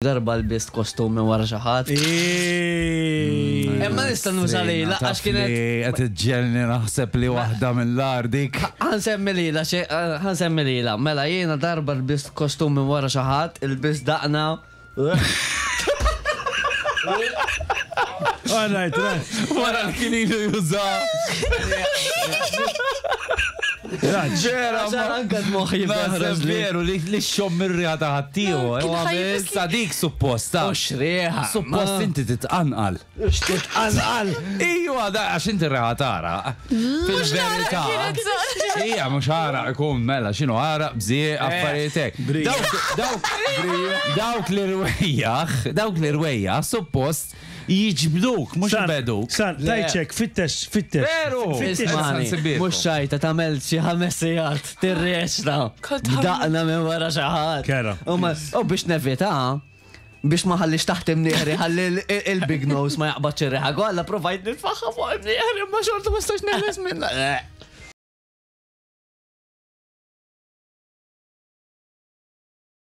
Darba lbist kostum minn wara xi ħadd. Imma nista' nuża lilha għax kienet. Qed iġġegħelni naħseb li waħda mill-agħar dik. Ħa nsemmi lilha xi ħa nsemmi lilha. Mela jiena darba lbist kostum minn wara xi ħadd, ilbist daqna. All right, right. Wara li kien ilu juża. Ġera, anka d-moħħi Naħseb veru li li xomm ir-riħa ta' ħaddieħor. Kien ħajbis Issa dik supposta. Mhux riħa. Suppost inti titqanqal. Titqanqal. Ijwa, da għax inti r-riħa tara. Fil-verità. Ija, mhux għaraq ikun mela, x'inhu għaraq, bżieq, affarijiet hekk. Dawk, dawk, dawk li rwejjaħ, dawk li rwejjaħ, suppost jiġbduk, mhux ibegħduk. San, tajċek, fittex, fittex. Veru! Fittex. Ismani, mhux xajta tagħmel xi ħames sigħat tirreċta. Daqna minn wara xi ħadd. Kera. U ma- U biex nevita, biex ma ħallix taħt imnieħri, ħalli il-big nose ma jaqbadx ir-riħa kollha, provajt nitfaħħa fuq imnieħri, ma xorta ma stax neħles minna.